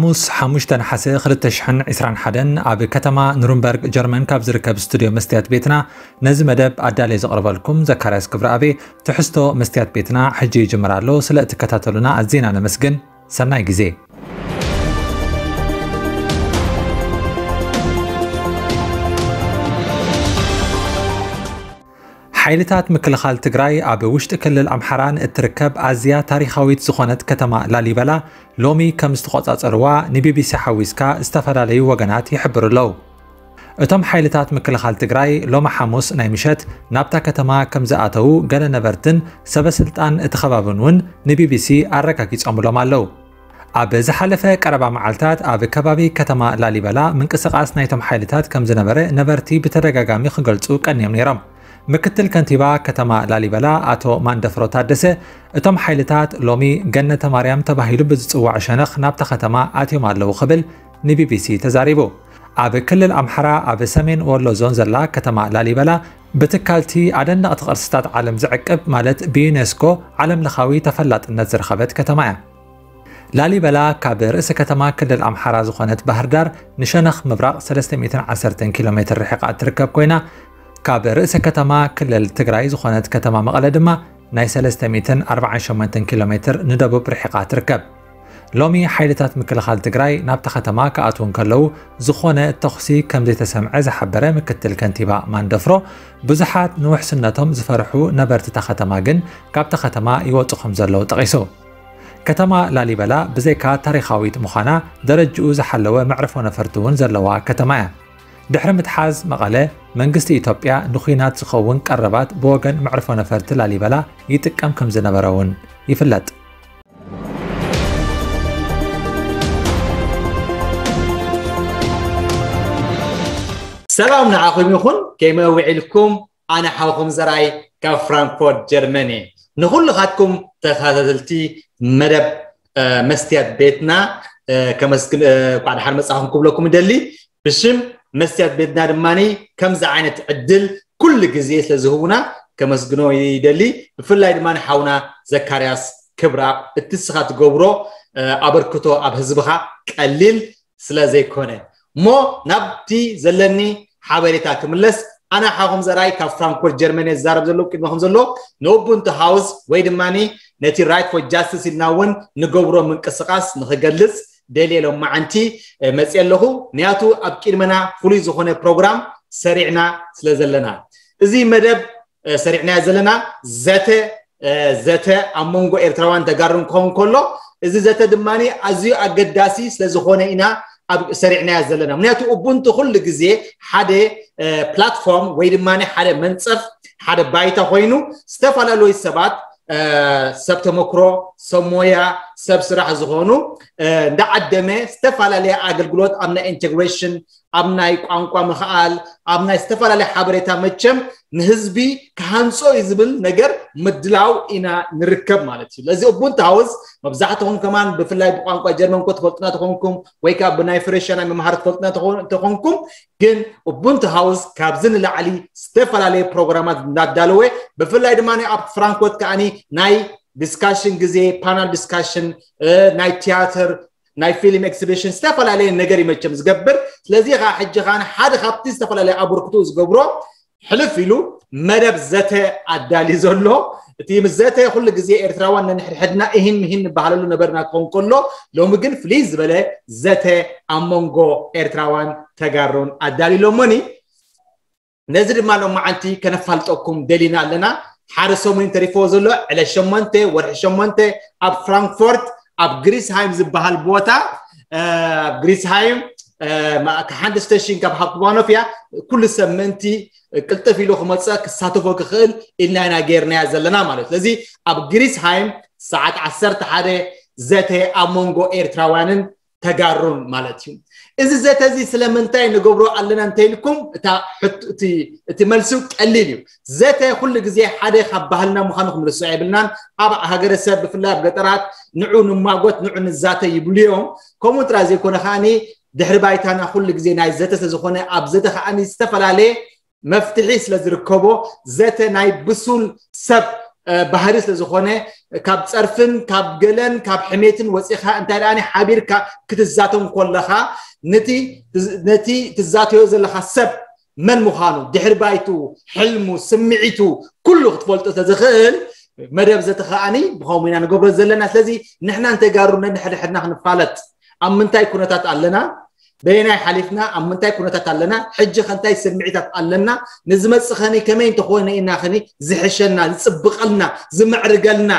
ሙስ ሓሙሽተ ነሓሰ ክልተ ሽሕን ዕስራን ሓደን ኣብ ከተማ ኑርንበርግ ጀርመን ካብ ዝርከብ ስቱድዮ መስትያት ቤትና ነዚ መደብ ኣዳልየ ዘቕርበልኩም ዘካርያስ ክብረኣቤ። ትሕዝቶ መስትያት ቤትና ሕጂ ይጅምር ኣሎ። ስለ እትከታተሉና ኣዝና ነመስግን። ሰናይ ግዜ። ሓይልታት ምክልኻል ትግራይ ኣብ ውሽጢ ክልል ኣምሓራን እትርከብ ኣዝያ ታሪኻዊት ዝኾነት ከተማ ላሊበላ ሎሚ ከም ዝተቖጻጸርዋ ንቢቢሲ ሓዊስካ ዝተፈላለዩ ወገናት ይሕብሩ ኣለዉ። እቶም ሓይልታት ምክልኻል ትግራይ ሎሚ ሓሙስ ናይ ምሸት ናብታ ከተማ ከም ዝኣተዉ ገለ ነበርትን ሰበ ስልጣን እቲ ከባብን እውን ንቢቢሲ ኣረጋጊጾምሎም ኣለዉ። ኣብ ዝሓለፈ ቀረባ መዓልታት ኣብ ከባቢ ከተማ ላሊበላ ምንቅስቓስ ናይቶም ሓይልታት ከም ዝነበረ ነበርቲ ብተደጋጋሚ ክገልጹ ቀንዮም ነይሮም። ምክትል ከንቲባ ከተማ ላሊበላ ኣቶ ማንደፍሮ ታደሰ፣ እቶም ሓይልታት ሎሚ ገነተ ማርያም ተባሂሉ ብዝጽዋዕ ሸነኽ ናብታ ከተማ ኣትዮም ኣለዉ ክብል ንቢቢሲ ተዛሪቡ። ኣብ ክልል ኣምሓራ ኣብ ሰሜን ወሎ ዞን ዘላ ከተማ ላሊበላ ብትካልቲ ኣደነቕቲ ቅርስታት ዓለም ዝዕቅብ ማለት ብዩኔስኮ ዓለም ለኻዊ ተፈላጥነት ዝረኸበት ከተማ እያ። ላሊበላ ካብ ርእሰ ከተማ ክልል ኣምሓራ ዝኾነት ባህር ዳር ንሸነኽ ምብራቕ ሰለስተ ሚእትን ዓሰርተን ኪሎ ሜትር ርሒቓ እትርከብ ኮይና፣ ካብ ርእሰ ከተማ ክልል ትግራይ ዝኾነት ከተማ መቐለ ድማ ናይ ሰለስተ ሚእትን ኣርባዓን ሸሞንተን ኪሎ ሜትር ንደቡብ ርሒቓ ትርከብ። ሎሚ ሓይልታት ምክልኻል ትግራይ ናብታ ከተማ ክኣትዉ እንከለዉ ዝኾነ ተኹሲ ከም ዘይተሰምዐ ዝሓበረ ምክትል ከንቲባ ማንደፍሮ፣ ብዙሓት ንውሕስነቶም ዝፈርሑ ነበርቲ እታ ከተማ ግን ካብታ ከተማ ይወጹ ከም ዘለዉ ጠቒሱ። ከተማ ላሊበላ ብዘይካ ታሪኻዊት ምዃና ደረጅኡ ዝሓለወ መዕርፎ ነፈርቲ እውን ዘለዋ ከተማ እያ። ድሕሪ ምትሓዝ መቐለ መንግስቲ ኢትዮጵያ ንኹናት ዝኸውን ቀረባት ብወገን መዕርፎ ነፈርቲ ላሊበላ ይጥቀም ከም ዝነበረ እውን ይፍለጥ። ሰላም ንዓኹም ይኹን፣ ከመይ ውዒልኩም? ኣነ ሓውኹም ዘርኣይ ካብ ፍራንክፎርት ጀርመን እየ። ንኹልኻትኩም ተኸታተልቲ መደብ መስትያት ቤትና ከመስግን፣ እንኳዕ ደሓን መጻኹም ክብለኩም እደሊ። ብሽም መስትያት ቤትና ድማ ከምዚ ዓይነት ዕድል ኩሉ ግዜ ስለ ዝህቡና ከመስግኖ ይደሊ። ብፍላይ ድማ ሓውና ዘካርያስ ክብራ፣ እቲ ንስኻ ትገብሮ ኣበርክቶ ኣብ ህዝብኻ ቀሊል ስለ ዘይኮነ። እሞ ናብቲ ዘለኒ ሓበሬታ ክምለስ፣ ኣነ ሓኹም ዘርኣይ ካብ ፍራንክፎርት ጀርመን እየ ዝዛረብ ዘለኹ። ቅድሚ ከም ዘሎ ንኡቡንቱ ሃውስ ወይ ድማ ነቲ ራይት ፎር ጃስቲስ ኢልና እውን ንገብሮ ምንቅስቓስ ንኽገልጽ ደልየ ሎማዓንቲ መፅየ ኣለኹ። ምክንያቱ ኣብ ቅድመና ፍሉይ ዝኾነ ፕሮግራም ሰሪዕና ስለ ዘለና፣ እዚ መደብ ሰሪዕናዮ ዘለና ዘተ ዘተ ኣብ መንጎ ኤርትራውያን ተጋሩን ክኸውን ከሎ፣ እዚ ዘተ ድማ ኣዝዩ ኣገዳሲ ስለ ዝኾነ ኢና ኣብ ሰሪዕናዮ ዘለና። ምክንያቱ ኡቡንቱ ኩሉ ግዜ ሓደ ፕላትፎርም ወይ ድማ ሓደ መንፀፍ፣ ሓደ ባይታ ኮይኑ ዝተፈላለዩ ሰባት ሰብ ተመክሮ፣ ሰብ ሞያ፣ ሰብ ስራሕ ዝኾኑ እንዳዓደመ ዝተፈላለየ ኣገልግሎት ኣብ ናይ ኢንቴግሬሽን፣ ኣብ ናይ ቋንቋ ምኽኣል፣ ኣብ ናይ ዝተፈላለየ ሓበሬታ መቸም ንህዝቢ ክሃንጾ እዩ ዝብል ነገር ምድላው ኢና ንርከብ ማለት እዩ። ስለዚ ኡቡንቱ ሃውስ መብዛሕትኹም ከማን ብፍላይ ብቋንቋ ጀርመን ኮ ትፈልጡና ተኾንኩም ወይ ከዓ ብናይ ፍሬሻ ናይ መምሃሪ ትፈልጡና ተኾን-፣ ተኾንኩም ግን ኡቡንቱ ሃውስ ካብዚ ንላዕሊ ዝተፈላለየ ፕሮግራማት እንዳዳለወ ብፍላይ ድማ ኣብ ፍራንክፎርት ከዓኒ ናይ ዲስካሽን ግዜ፣ ፓናል ዲስካሽን፣ ናይ ቲያትር፣ ናይ ፊልም ኤክስቢሽን ዝተፈላለየ ነገር እዩ መቸም ዝገብር። ስለዚ ከዓ ሕጂ ከዓ ሓደ ካብቲ ዝተፈላለየ ኣበርክቶ ዝገብሮ ሕልፍ ኢሉ መደብ ዘተ ኣዳልዩ ዘሎ። እቲ ምስ ዘተ ኩሉ ግዜ ኤርትራውያን ነንሕድሕድና እሂን ምሂን ንበሃለሉ ነበርና ክኸውን ከሎ፣ ሎሚ ግን ፍልይ ዝበለ ዘተ ኣብ መንጎ ኤርትራውያን ተጋሩን ኣዳልዩ ኣሎሞኒ። ነዚ ድማ ሎማዓንቲ ከነፋልጠኩም ደሊና ኣለና። ሓደ ሰሙን ተሪፎ ዘሎ ዕለት ሸሞንተ ወርሒ ሸሞንተ ኣብ ፍራንክፎርት ኣብ ግሪስሃይም ዝበሃል ቦታ፣ ኣብ ግሪስሃይም ሓንቲ ስቴሽን ካብ ሃፕትባኖፍ እያ። ኩሉ ሰብ ምእንቲ ቅልጥፍ ኢሉ ክመፀ ክሳተፎ ክኽእል ኢልና ኢና ገይርናያ ዘለና ማለት። ስለዚ ኣብ ግሪስሃይም ሰዓት ዓሰርተ ሓደ ዘተ ኣብ መንጎ ኤርትራውያንን ተጋሩን ማለት እዩ። እዚ ዘተ እዚ ስለምንታይ ንገብሮ ኣለና እንተኢልኩም፣ እታ ሕቶ፣ እቲ፣ እቲ መልሲ ቀሊል እዩ። ዘተ ኩሉ ግዜ ሓደ ካብ ባህልና ምዃኑ ክንርስዖ የብልናን። ኣብ ሃገረሰብ ብፍላይ ኣብ ገጠራት ንዑ ንማጎት፣ ንዑ ንዛተ ይብሉ እዮም። ከምኡ ጥራይ ዘይኮነ ከዓኒ ድሕሪ ባይታና ኩሉ ግዜ ናይ ዘተ ስለ ዝኾነ ኣብ ዘተ ከዓኒ ዝተፈላለየ መፍትሒ ስለ ዝርከቦ ዘተ ናይ ብሱል ሰብ ባህሪ ስለ ዝኾነ ካብ ፀርፍን ካብ ገለን ካብ ሕሜትን ወፂኻ እንታይ ደኣ ሓቢርካ ክትዛተው ከለኻ ነቲ ትዛተዮ ዘለኻ ሰብ መን ምዃኑ ድሕሪ ባይቱ ሕልሙ ስምዒቱ ኩሉ ክትፈልጦ ተዝኽእል መደብ ዘተኸኣኒ ብኸምኡ ኢና ንገብሮ ዘለና። ስለዚ ንሕና ንተጋሩ ነንሕድሕድና ክንፋለጥ ኣብ ምንታይ ኩነታት ኣለና በየናይ ሓሊፍና ኣብ ምንታይ ኩነታት ኣለና ሕጂ ከንታይ ስምዒታት ኣለና ንዝመፅእ ኸኒ ከመይ እንተኾነ ኢና ኸኒ ዝሕሸና ዝፅብቐልና ዝምዕርገልና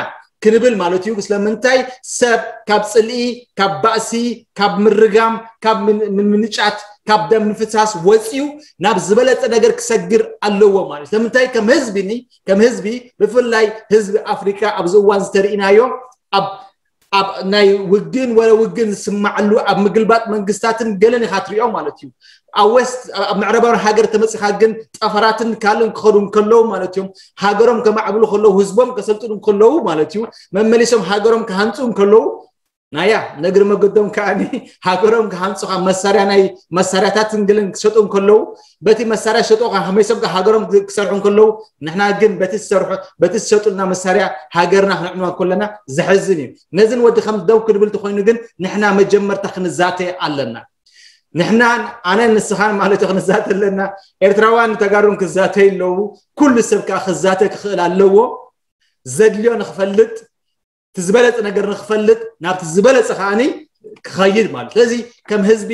ክንብል ማለት እዩ። ስለምንታይ ሰብ ካብ ፅልኢ ካብ ባእሲ ካብ ምርጋም ካብ ምንጫት ካብ ደም ምፍሳስ ወፂኡ ናብ ዝበለፀ ነገር ክሰግር ኣለዎ ማለት ስለምንታይ ከም ህዝቢ ከም ህዝቢ ብፍላይ ህዝቢ ኣፍሪካ ኣብዚ እዋን ዝተርእናዮ ኣብ ኣብ ናይ ውግን ወረ ውግን ዝስማዓሉ ኣብ ምግልባጥ መንግስታትን ገለን ኢኻ ትሪኦ ማለት እዩ ኣብ ወስት ኣብ ምዕረባዊ ሃገር ተመፂኻ ግን ጠፈራትን ካልን ክኸዱ እንከለዉ ማለት እዮም ሃገሮም ከማዕብሉ ከለዉ ህዝቦም ከሰልጥኑ እንከለዉ ማለት እዩ መመሊሶም ሃገሮም ክሃንፁ እንከለዉ ናያ ነግሪ መገዶም ከዓኒ ሃገሮም ክሃንፁ ካብ መሳርያ ናይ መሳርያታትን ገለን ክሸጡ እንከለዉ በቲ መሳርያ ሸጦ ከመይሶም ሃገሮም ክሰርሑ እንከለዉ ንሕና ግን በቲ ዝሰርሑ በቲ ዝሸጡልና መሳርያ ሃገርና ክነዕንዋ ከለና ዘሕዝን እዩ ነዝን ወዲ ከም ደው ክድብል ተኮይኑ ግን ንሕና መጀመርታ ክንዛተ ኣለና ንሕና ኣነ ንስኻን ማለት ክንዛተ ኣለና ኤርትራውያን ተጋሩን ክዛተ ኣለዉ ኩሉ ሰብ ከዓ ክዛተ ክኽእል ኣለዎ ዘድልዮ ንክፈልጥ እቲ ዝበለፀ ነገር ንክፈልጥ ናብቲ ዝበለፀ ከዓኒ ክኸይድ ማለት ስለዚ ከም ህዝቢ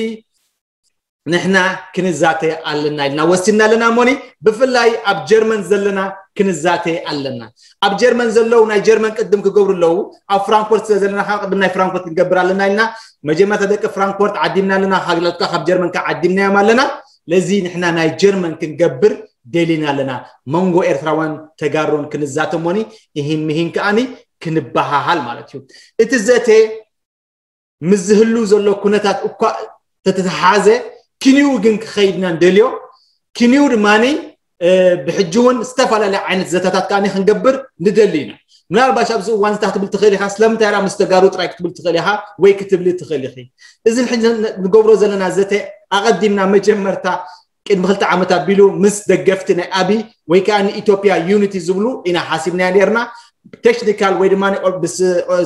ንሕና ክንዛተ ኣለና ኢልና ወሲና ኣለና እሞኒ ብፍላይ ኣብ ጀርመን ዘለና ክንዛተ ኣለና ኣብ ጀርመን ዘለዉ ናይ ጀርመን ቅድም ክገብሩ ኣለዉ ኣብ ፍራንኮርት ስለ ዘለና ካብ ቅድም ናይ ፍራንኮርት ክንገብር ኣለና ኢልና መጀመርታ ደቂ ፍራንኮርት ዓዲምና ኣለና ካግላትካ ካብ ጀርመን ከዓ ዓዲምናዮም ኣለና ለዚ ንሕና ናይ ጀርመን ክንገብር ደሊና ኣለና መንጎ ኤርትራውያን ተጋሩን ክንዛተ እሞኒ ይሂን ምሂን ከዓኒ ክንበሃሃል ማለት እዩ እቲ ዘተ ምስ ዝህሉ ዘሎ ኩነታት እኳ ተተተሓዘ ክንኡ ግን ክኸይድና ንደልዮ ክንኡ ድማ ብሕጂ እውን ዝተፈላለዩ ዓይነት ዘተታት ከዓ ክንገብር ንደሊ ኢና ምናልባሽ ኣብዚ እዋን ዝታ ክትብል ትኽእል ኢኻ ስለምንታይ ራ ምስ ተጋሩ ጥራይ ክትብል ትኽእል ኢኻ ወይ ክትብሊ ትኽእል ኢኺ እዚ ንገብሮ ዘለና ዘተ ኣቐዲምና መጀመርታ ቅድሚ ክልተ ዓመት ኣቢሉ ምስ ደገፍቲ ናይ ኣቢ ወይ ከዓ ንኢትዮጵያ ዩኒቲ ዝብሉ ኢና ሓሲብናያ ነርና ቴክኒካል ወይ ድማ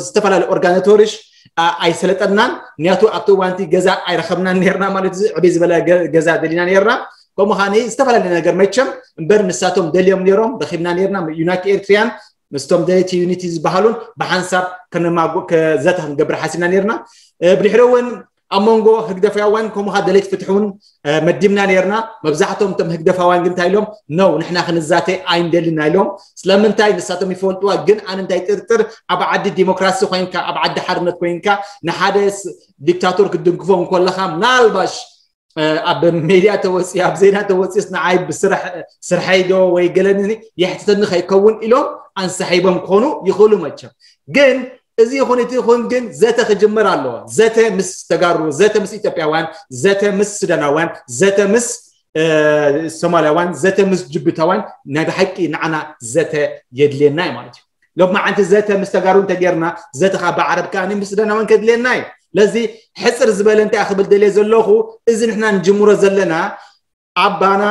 ዝተፈላለዩ ኦርጋናቶሪሽ ኣይሰለጠናን ምክንያቱ ኣብቲ እዋንቲ ገዛ ኣይረኸብናን ነርና ማለት እዚ ዕብይ ዝበለ ገዛ ደሊና ነርና ከምኡ ከዓኒ ዝተፈላለየ ነገር መቸም እምበር ንሳቶም ደልዮም ነሮም ረኺብና ነርና ዩናይትድ ኤርትሪያን ምስቶም ደለይቲ ዩኒቲ ዝበሃሉን ብሓንሳብ ከነማጉ ዘተ ክንገብር ሓሲብና ነርና ብድሕሪ እውን ኣብ መንጎ ህግደፋውያን ከምኡ ከዓ ደለይቲ ፍትሒ እውን መዲብና ነርና መብዛሕቶም እቶም ህግደፋውያን ግን እንታይ ኢሎም ነው ንሕና ክንዛተ ኣይንደልና ኢሎም ስለምንታይ ንሳቶም ይፈልጥዋ ግን ኣነ እንታይ ጥርጥር ኣብ ዓዲ ዲሞክራሲ ኮይንካ ኣብ ዓዲ ሓርነት ኮይንካ ንሓደ ዲክታቶር ክትድግፎ እንኮለካ ምናልባሽ ኣብ ሜድያ ተወፂ ኣብ ዜና ተወፂስ ንዓይ ብስርሐይ ዶ ወይ ገለኒ የሕትተኒ ከይከውን ኢሎም ኣንሳሒቦም ክኾኑ ይኽእሉ መቸም ግን እዚ ይኹን እቲ ይኹን ግን ዘተ ክጅምር ኣለዎ ዘተ ምስ ተጋሩ ዘተ ምስ ኢትዮጵያውያን ዘተ ምስ ሱዳናውያን ዘተ ምስ ሶማልያውያን ዘተ ምስ ጅቡታውያን ናይ ብሓቂ ንዓና ዘተ የድልየና እዩ ማለት እዩ ሎማዓንቲ ዘተ ምስ ተጋሩ እንተጌርና ዘተ ካብ ዓረብ ከዓኒ ምስ ሱዳናውያን ከድልየና እዩ ለዚ ሕፅር ዝበለ እንታይ ክብል ደልየ ዘለኹ እዚ ንሕና ንጅምሮ ዘለና ኣባና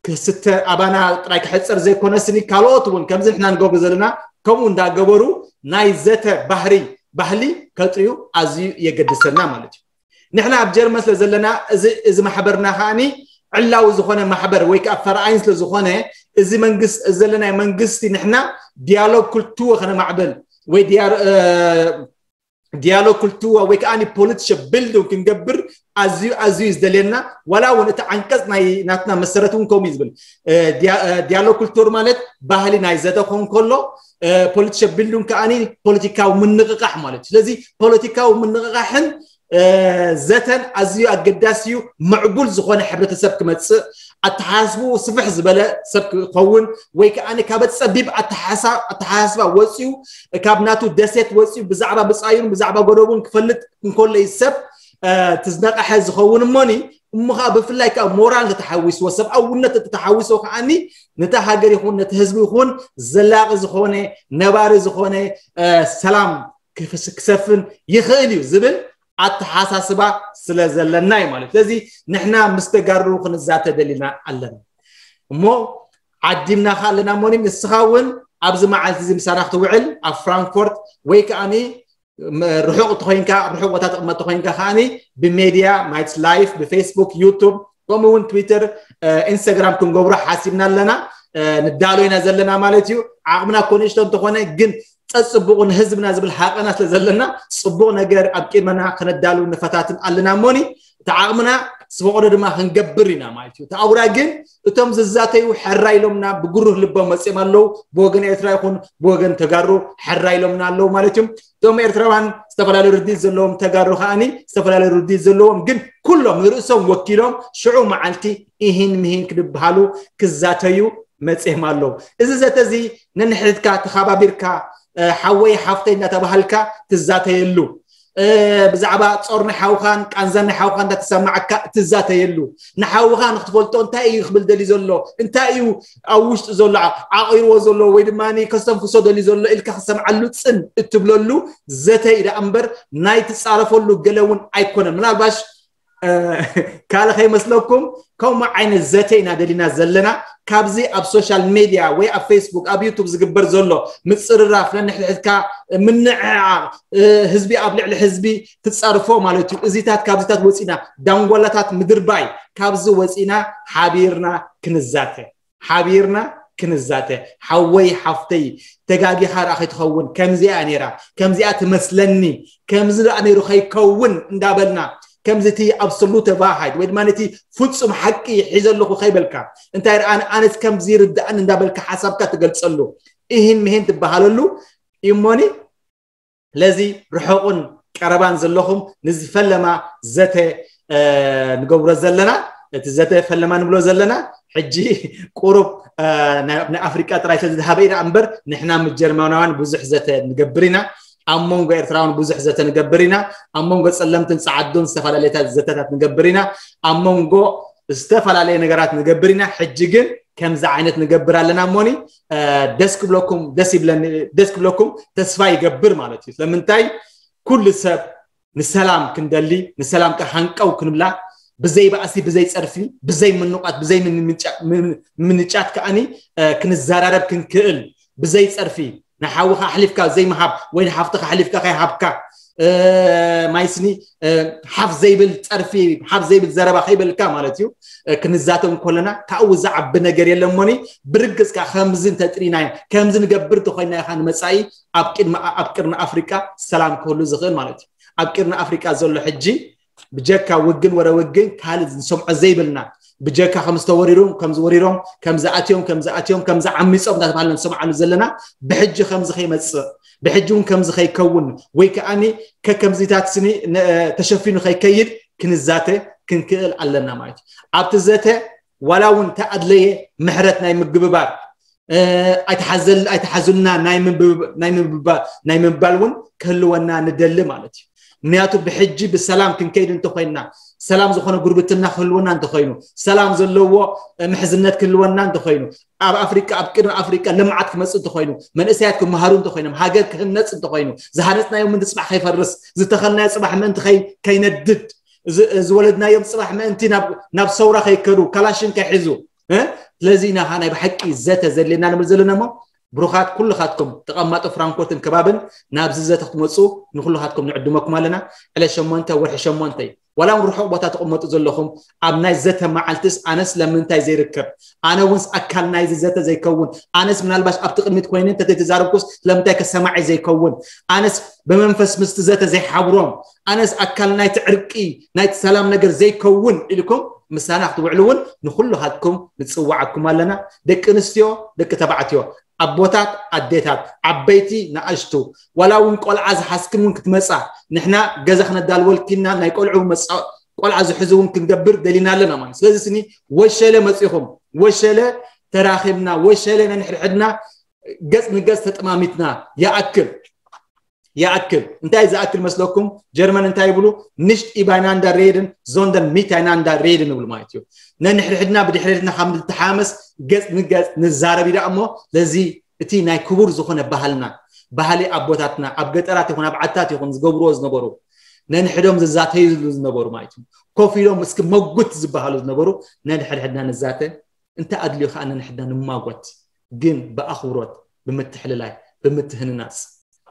ክስተ ኣባና ጥራይ ክሕፀር ዘይኮነስኒ ካልኦት እውን ከምዚ ንሕና ንገብሩ ዘለና ከምኡ እንዳገበሩ ናይ ዘተ ባህሪ ባህሊ ከጥርዩ ኣዝዩ የገድሰና ማለት እዩ ንሕና ኣብ ጀርመን ስለ ዘለና እዚ ማሕበርና ከዓኒ ዕላዊ ዝኾነ ማሕበር ወይ ከዓ ፈርኣይን ስለ ዝኾነ እዚ መንግስቲ እዚ ዘለናይ መንግስቲ ንሕና ዲያሎግ ክልትዎ ከነማዕብል ወይ ዲያሎግ ክልትዋ ወይ ከዓ ፖለቲሸ ቢልዲንግ ክንገብር ኣዝዩ ኣዝዩ ዝደልየና ዋላ እውን እቲ ዓንቀፅ ናይ ናትና መሰረት እውን ከምኡ እዩ ዝብል ዲያሎግ ክልቱር ማለት ባህሊ ናይ ዘተ ክኸውን ከሎ ፖለቲሸ ቢልዲንግ ከዓ ፖለቲካዊ ምንቕቃሕ ማለት እዩ ስለዚ ፖለቲካዊ ምንቕቃሕን ዘተን ኣዝዩ ኣገዳሲ እዩ ምዕቡል ዝኾነ ሕብረተሰብ ክመፅእ ኣተሓሳስቡ ስፍሕ ዝበለ ሰብ ክኸውን ወይ ከዓ ካብ ፀቢብ ኣተሓሳስባ ወፂኡ ካብ ናቱ ደሴት ወፂኡ ብዛዕባ ብፃዩን ብዛዕባ ጎደቡን ክፈልጥ እንከሎ እዩ ሰብ ትዝነቃሐ ዝኸውን እሞኒ እሞ ከዓ ብፍላይ ከዓ ሞራል እንተተሓዊስዎ ሰብኣውነት እንተተሓዊስዎ ከዓኒ ነታ ሃገር ይኹን ነቲ ህዝቢ ይኹን ዘላቂ ዝኾነ ነባሪ ዝኾነ ሰላም ክሰፍን ይኽእል እዩ ዝብል ኣተሓሳስባ ስለ ዘለና እዩ ማለት ስለዚ ንሕና ምስ ተጋሩ ክንዛተ ደሊና ኣለና እሞ ዓዲምና ከ ኣለና እሞኒ ንስኻ እውን ኣብዚ መዓልቲ እዚ ምሳና ክትውዕል ኣብ ፍራንክፎርት ወይ ከዓኒ ርሑቕ ተኮይንካ ርሑቕ ቦታ ተቕመጥ ተኮይንካ ከዓኒ ብሜድያ ማይትስ ላይፍ ብፌስቡክ ዩቱብ ከምኡ እውን ትዊተር ኢንስታግራም ክንገብሮ ሓሲብና ኣለና። ንዳሎ ኢና ዘለና ማለት እዩ። ዓቕምና ኮ ንእሽቶ እንተኾነ ግን ጸጽቡቑ ንህዝብና ዝብል ሃቐና ስለ ዘለና ጽቡቕ ነገር ኣብ ቅድመና ከነዳሉ ንፈታትን ኣለና እሞኒ እቲ ዓቕምና ዝፈቐዶ ድማ ክንገብር ኢና ማለት እዩ። ተኣውራ ግን እቶም ዝዛተዩ ሕራ ኢሎምና ብግሩህ ልቦም መጽኦም ኣለዉ። ብወገን ኤርትራ ይኹን ብወገን ተጋሩ ሕራ ኢሎምና ኣለዉ ማለት እዩ። እቶም ኤርትራውያን ዝተፈላለዩ ርድኢት ዘለዎም ተጋሩ ከዓኒ ዝተፈላለዩ ርድኢት ዘለዎም ግን ኩሎም ንርእሶም ወኪሎም ሽዑ መዓልቲ ኢሂን ምሂን ክድበሃሉ ክዛተዩ መጽኦም ኣለዉ። እዚ ዘተ እዚ ነንሕድካ ተኻባቢርካ ሓወይ ሓፍተይ እናተባሃልካ ትዛተየሉ ብዛዕባ ጾር ናይ ሓውኻን ቃንዛ ናይ ሓውኻን እንዳተሰማዓካ ትዛተየሉ ንሓውኻ ንክትፈልጦ እንታይ እዩ ክብል ደሊ ዘሎ እንታይ እዩ ኣብ ውሽጡ ዘሎ ዓቂርዎ ዘሎ ወይ ድማ ከስተንፍሶ ደሊ ዘሎ ኢልካ ክሰምዓሉ ጽን እትብለሉ ዘተ እዩ ደኣ እምበር ናይ ትጻረፈሉ ገለ እውን ኣይኮነን ምናልባሽ ካልእ ከይመስለኩም ከምኡ ዓይነት ዘተ ኢና ደሊና ዘለና ካብዚ ኣብ ሶሻል ሜድያ ወይ ኣብ ፌስቡክ ኣብ ዩቱብ ዝግበር ዘሎ ምፅርራፍ ነንሕድሕድካ ምንዕዓቕ ህዝቢ ኣብ ልዕሊ ህዝቢ ትፀርፎ ማለት እዩ እዚታት ካብዚታት ወፂና ዳንጓላታት ምድርባይ ካብዚ ወፂና ሓቢርና ክንዛተ ሓቢርና ክንዛተ ሓወይ ሓፍተይ ተጋጊኻ ርኣ ከይትኸውን ከምዚኣ ነይራ ከምዚኣ ትመስለኒ ከምዚ ርኣ ነይሩ ከይከውን እንዳበልና ከምዚ እቲ ኣብሶሉተ ቫሃይድ ወይ ድማ ነቲ ፍጹም ሓቂ ሒዘ ኣለኹ ከይበልካ እንታይ ርኣን ኣነስ ከምዚ ይርድኣን እንዳበልካ ሓሳብካ ትገልጸሉ ኢሂን ምሂን ትበሃለሉ እሞኒ ስለዚ ርሑቕን ቀረባን ዘለኹም ንዝፈለማ ዘተ ንገብሮ ዘለና እቲ ዘተ ፈለማ ንብሎ ዘለና ሕጂ ቁሩብ ናይ ኣፍሪቃ ጥራይ ስለዝሃበ ኢና እምበር ንሕና ምስ ጀርመናውያን ብዙሕ ዘተ ንገብር ኢና ኣብ መንጎ ኤርትራውን ብዙሕ ዘተ ንገብር ኢና ኣብ መንጎ ጸለምትን ጸዓዱን ዝተፈላለየታት ዘተታት ንገብር ኢና ኣብ መንጎ ዝተፈላለየ ነገራት ንገብር ኢና ሕጂ ግን ከምዚ ዓይነት ንገብር ኣለና እሞኒ ደስ ክብለኩም ደስ ይብለኒ ደስ ክብለኩም ተስፋ ይገብር ማለት እዩ ስለምንታይ ኩሉ ሰብ ንሰላም ክንደሊ ንሰላም ከሃንቀው ክንብላ ብዘይ ባእሲ ብዘይ ጸርፊ ብዘይ ምንቋት ብዘይ ምንጫት ከኣኒ ክንዘራረብ ክንክእል ብዘይ ጸርፊ ንሓውኻ ኣሕሊፍካ ዘይምሃብ ወይ ንሓፍትኻ ኣሕሊፍካ ከይሃብካ ማይስኒ ሓፍ ዘይብል ጸርፊ ሓፍ ዘይብል ዘረባ ከይበልካ ማለት እዩ ክንዛተው እንኮለና ካብኡ ዝዓቢ ነገር የለሞኒ ብርግጽካ ከምዚ እንተጥሪናዮ ከምዚ ንገብር እንተኮይና ኢኻ ንመጻኢ ኣብ ቅድሚ ኣብ ቅርኒ ኣፍሪቃ ሰላም ክህሉ ዝኽእል ማለት እዩ ኣብ ቅርኒ ኣፍሪቃ ዘሎ ሕጂ ብጀካ ውግን ወረ ውግን ካልእ ንሰምዖ ዘይብልና ብጀካ ከም ዝተወሪሩ ከም ዝወሪሮም ከም ዝኣትዮም ከም ዝኣትዮም ከም ዝዓሚጾም እናተባሃለ ንሰምዓሉ ዘለና ብሕጂ ከምዚ ከይመጽእ ብሕጂ እውን ከምዚ ከይከውን ወይ ከኣኒ ከከምዚታት ስኒ ተሸፊኑ ከይከይድ ክንዛተ ክንክእል ኣለና ማለት እዩ ኣብቲ ዘተ ዋላ እውን ተኣድለየ ምሕረት ናይ ምግብባር ኣይትሓዘልና ናይ ምባል እውን ክህልወና ንደሊ ማለት እዩ ምክንያቱ ብሕጂ ብሰላም ክንከይድ እንተኮይንና ሰላም ዝኾነ ጉርብትና ክህልወና እንተኮይኑ ሰላም ዘለዎ ምሕዝነት ክህልወና እንተኮይኑ ኣብ ኣፍሪቃ ኣብ ቅድሚ ኣፍሪቃ ልምዓት ክመፅእ እንተኮይኑ መንእሰያት ክመሃሩ እንተኮይኖም ሃገር ክህነፅ እንተኮይኑ ዝሃነፅናዮ ምንቲ ፅባሕ ከይፈርስ ዝተኸልናዮ ፅባሕ ምእንቲ ከይነድድ ዝወለድናዮም ፅባሕ ምእንቲ ናብ ሰውራ ከይከዱ ካላሽን ከይሕዙ ስለዚ ኢና ናይ ብሓቂ ዘተ ዘድልየና ንብል ዘለና እሞ ብሩኻት ኩልኻትኩም ተቐማጦ ፍራንኮትን ከባብን ናብዚ ዘተ ክትመፁ ንኩልኻትኩም ንዕድመኩም ኣለና ዕለ ሸሞንተ ወርሒ ሸሞንተ እዩ ዋላ እውን ርሑቕ ቦታ ትቕመጡ ዘለኹም ኣብ ናይ ዘተ መዓልትስ ኣነስ ለምንታይ ዘይርከብ ኣነ እውን ኣካል ናይዚ ዘተ ዘይከውን ኣነስ ምናልባሽ ኣብቲ ቅድሚት ኮይነ እንተዘይተዛረብኩስ ለምንታይ ከሰማዒ ዘይከውን ኣነስ ብመንፈስ ምስቲ ዘተ ዘይሓብሮም ኣነስ ኣካል ናይቲ ዕርቂ ናይቲ ሰላም ነገር ዘይከውን ኢልኩም ምሳና ክትውዕሉ እውን ንኩልኻትኩም ንፅዋዓኩም ኣለና ደቂ ኣንስትዮ ደቂ ተባዕትዮ ኣቦታት ኣዴታት ዓበይቲ ንኣሽቱ ዋላ እውን ቆልዓ ዝሓዝክን እውን ክትመፃ ንሕና ገዛ ክነዳልወልኪና ናይ ቆልዑ መፃ ቆልዓ ዝሕዙ እውን ክንገብር ደሊና ኣለና ማለት ስለዚ ስኒ ወሸለ መፂኹም ወሸለ ተራኺብና ወሸለ ነንሕድሕድና ገፅ ንገፅ ተጠማሚትና ይኣክል ይኣክል እንታይ ዝኣክል መስለኩም ጀርመን እንታይ ይብሉ ንሽት ኢባይናንዳ ሬድን ዞንደን ሚት ኣይናንዳ ሬድን ይብሉ ማለት እዩ ነንሕድሕድና ብድሕሪትና ካብ ንተሓመስ ገፅ ንገፅ ንዛረብ ኢና እሞ ለዚ እቲ ናይ ክቡር ዝኾነ ባህልና ባህሊ ኣቦታትና ኣብ ገጠራት ይኹን ኣብ ዓድታት ይኹን ዝገብርዎ ዝነበሩ ነንሕዶም ዝዛተይሉ ዝነበሩ ማለት እዩ ኮፍ ኢሎም እስኪ መጉት ዝበሃሉ ዝነበሩ ነንሕድሕድና ንዛተ እንተ ኣድልዩ ከዓ ነንሕድና ንማጎት ግን ብኣኽብሮት ብምትሕልላይ፣ ብምትህንናፅ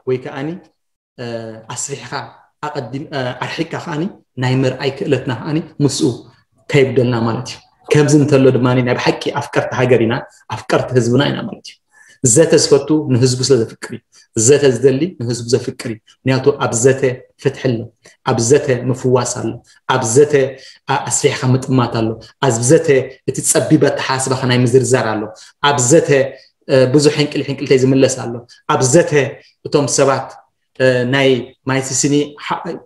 ወይ ከዓኒ ኣስፊሕካ ኣርሒካ ከዓኒ ናይ ምርኣይ ክእለትና ከዓኒ ምስኡ ከይጉደልና ማለት እዩ። ከምዚ እንተሎ ድማ ናይ ብሓቂ ኣፍቀርቲ ሃገር ኢና፣ ኣፍቀርቲ ህዝብና ኢና ማለት እዩ። ዘተ ዝፈቱ ንህዝቡ ስለ ዘፍቅር እዩ። ዘተ ዝደሊ ንህዝቡ ዘፍቅር እዩ። ምክንያቱ ኣብ ዘተ ፍትሒ ኣሎ፣ ኣብ ዘተ ምፍዋስ ኣሎ፣ ኣብ ዘተ ኣስፊሕካ ምጥማት ኣሎ፣ ኣብ ዘተ እቲ ፀቢብ ኣተሓሳስባካ ናይ ምዝርዛር ኣሎ፣ ኣብ ዘተ ብዙሕ ሕንቅል ሕንቅልተይ ዝምለስ ኣሎ። ኣብ ዘተ እቶም ሰባት ናይ ማይሲሲኒ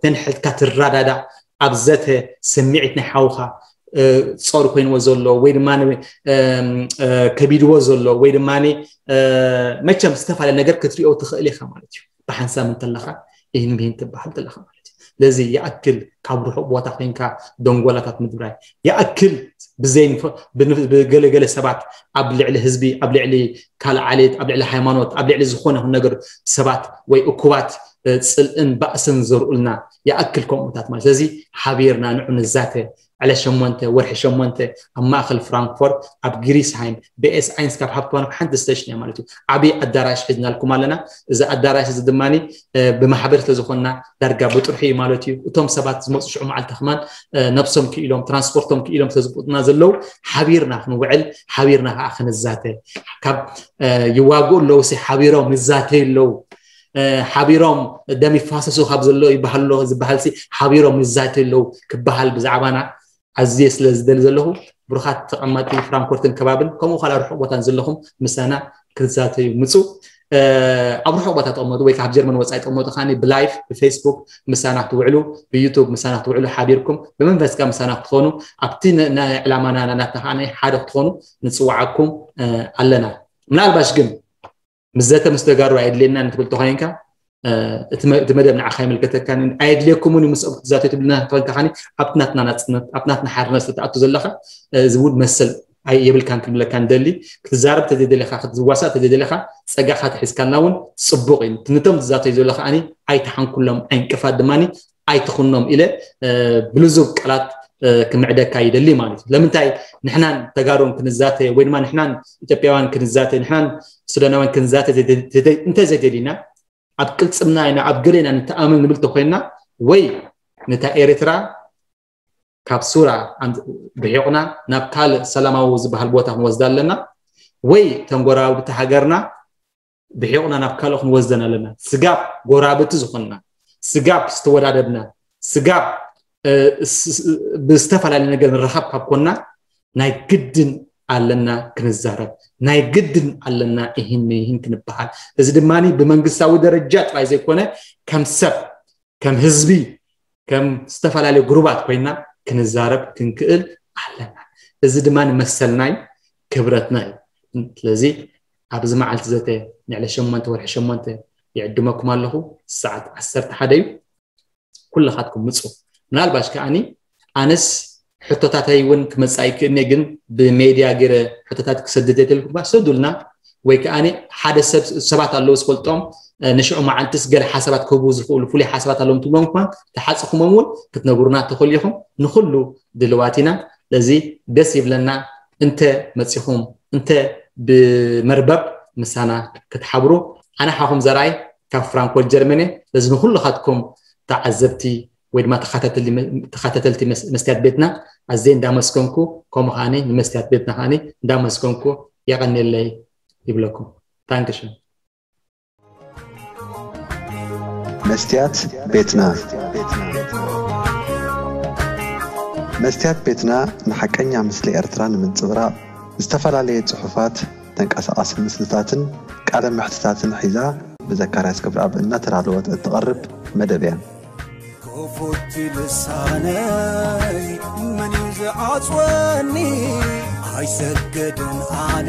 ተንሕልካ ትረዳዳእ፣ ኣብ ዘተ ስምዒት ናይ ሓውካ ጾር ኮይንዎ ዘሎ ወይ ድማ ከቢድዎ ዘሎ ወይ ድማ መቸም ዝተፈላለየ ነገር ክትሪኦ ትኽእል ኢኻ ማለት እዩ። ብሓንሳብ እንተለኻ ይህን ብህን ትበሃል ዘለኻ ማለት እዩ። ስለዚ ይኣክል ካብ ርሑቕ ቦታ ኮይንካ ደንጎላታት ምድብራይ፣ ይኣክል ብዘይ ብገለገለ ሰባት ኣብ ልዕሊ ህዝቢ፣ ኣብ ልዕሊ ካልእ ዓሌት፣ ኣብ ልዕሊ ሃይማኖት፣ ኣብ ልዕሊ ዝኾነ ይኹን ነገር ሰባት ወይ እኩባት ጽልእን ባእስን ዘርኡልና ይኣክል ከምኡታት ማለት። ስለዚ ሓቢርና ንዑ ንዛተ። ዕለት ሸሞንተ ወርሒ ሸሞንተ ኣብ ማእከል ፍራንክፎርት ኣብ ግሪስሃይም ብኤስ ኣይንስ ካብ ሃብትባኖክ ሓንቲ ስቴሽን እያ ማለት እዩ። ዓብዪ ኣዳራሽ ሒዝናልኩም ኣለና። እዚ ኣዳራሽ እዚ ድማ ብማሕበር ስለዝኾንና ዳርጋ ብጥርሑ እዩ ማለት እዩ። እቶም ሰባት ዝመፁ ሽዑ መዓልቲ ከማን ነብሶም ክኢሎም ትራንስፖርቶም ክኢሎም ስለዝብቁጥና ዘለዉ ሓቢርና ክንውዕል ሓቢርና ከዓ ክንዛተ ካብ ይዋግኡ ኣለዉ ሲ ሓቢሮም ይዛተዩ ኣለዉ። ሓቢሮም ደም ይፋሰሱ ካብ ዘሎ ይበሃል ኣሎ ዝበሃል ሲ ሓቢሮም ይዛተዩ ኣለዉ ክበሃል ብዛዕባና ኣዝየ ስለ ዝደሊ ዘለኹ ብሩኻት ተቐማጢ ፍራንኮርትን ከባብን ከምኡ ካላ ርሑቕ ቦታን ዘለኹም ምሳና ክትዛተዩ ምፁ። ኣብ ርሑቕ ቦታ ተቐመጡ ወይ ካብ ጀርመን ወፃኢ ተቐመጡ ከዓኒ ብላይፍ ብፌስቡክ ምሳና ክትውዕሉ ብዩቱብ ምሳና ክትውዕሉ ሓቢርኩም ብመንፈስካ ምሳና ክትኾኑ ኣብቲ ናይ ዕላማና ናትና ከዓ ሓደ ክትኾኑ ንፅዋዓኩም ኣለና። ምናልባሽ ግን ምዘተ ምስ ተጋሩ ኣየድልየና ንትብል ተኮይንካ እቲ መደብ ንዓኻ ይምልከተካ ኣየድልየኩምን እዩ ምስኦም ክትዛተዩ ትብልና ተኮይንካ ከኒ ኣብቲ ናትና ናፅነት ኣብቲ ናትና ሓርነት ተኣቱ ዘለካ እዚ እውን መሰል የብልካን ክንብለካ ንደሊ ክትዛረብ ተዘይደለካ ክትዋሳእ ተዘይደለካ ፀጋኻ ተሒዝካልና እውን ፅቡቅ እዩ። ነቶም ዝዛተዩ ዘለካ ኣኒ ኣይተሓንኩሎም ዕንቅፋት ድማ ኣይትኹኖም ኢለ ብልዙብ ቃላት ክምዕደካ ይደሊ ማለት እዩ። ለምንታይ ንሕናን ተጋሩን ክንዛተ ወይ ድማ ንሕናን ኢትዮጵያውያን ክንዛተ ንሕናን ሱዳናውያን ክንዛተ እንተ ዘይደሊና ኣብ ቅልፅምና ኢና ኣብ ገሌና ንተኣምን ንብል ተኮይንና ወይ ነታ ኤርትራ ካብ ሱራ ብሒቑና ናብ ካልእ ሰላማዊ ዝበሃል ቦታ ክንወስዳ ኣለና ወይ ተንጎራብቲ ሃገርና ብሒቑና ናብ ካልእ ክንወስደን ኣለና። ስጋብ ጎራብቲ ዝኾንና፣ ስጋብ ዝተወዳደብና፣ ስጋብ ብዝተፈላለየ ነገር ንረኻብ ካብ ኮንና ናይ ግድን ኣለና ክንዛረብ፣ ናይ ግድን ኣለና ይህን ይህን ክንበሃል። እዚ ድማ ብመንግስታዊ ደረጃ ጥራይ ዘይኮነ ከም ሰብ ከም ህዝቢ ከም ዝተፈላለዩ ግሩባት ኮይና ክንዛረብ ክንክእል ኣለና። እዚ ድማ ንመሰልናይ ክብረትና እዩ። ስለዚ ኣብዚ መዓልቲ ዘተ ንዕለ ሸሞንተ ወርሒ ሸሞንተ ይዕድመኩም ኣለኹ። ሰዓት ዓሰርተ ሓደ እዩ። ኩልኻትኩም ምፁ። ምናልባሽ ከዓኒ ኣነስ ሕቶታተይ እውን ክመፃ ይክእልኒ ግን ብሜድያ ገይረ ሕቶታት ክሰድድ የደልኩም ስዱልና ወይ ከዓ ሓደ ሰብ ሰባት ኣለዉ ዝፈልጦም ንሽዑ መዓልትስ ገለ ሓሳባት ክህቡ ዝኽእሉ ፍሉይ ሓሳባት ኣለዎም ትብሎም እኳ ተሓፅኹሞም እውን ክትነግሩና ተኽእሉ ኢኹም። ንኩሉ ድልዋት ኢና። ለዚ ደስ ይብለና እንተ መፂኹም እንተ ብመርበብ ምሳና ክትሓብሩ። ኣነ ሓኹም ዘርኣይ ካብ ፍራንኮል ጀርመን እየ። ለዚ ንኩልኻትኩም ተዓዘብቲ ወይ ድማ ተኸታተልቲ መስትያት ቤትና ኣዘይ እንዳመስገንኩ ከምኡ ከዓኒ ንመስትያት ቤትና ከዓኒ እንዳመስገንኩ የቐንየለይ ይብለኩም። ታንክሽን። መስትያት ቤትና መስትያት ቤትና ንሓቀኛ ምስሊ ኤርትራ ንምንጽብራቕ ዝተፈላለየ ጽሑፋት፣ ተንቀሳቓሲ ምስልታትን ቃለ መሕትታትን ሒዛ ብዘካርያስ ገብረኣብ እናተዳለወት እትቐርብ መደብ እያ። ክፉት ልሳነይ መን እዩ ዝዓጽወኒ? ኣይሰገድን ኣነ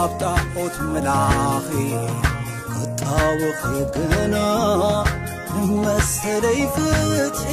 ኣብ ጣዖት ምላኺ ክጣወኺ ግና ንመሰለይ ፍትሒ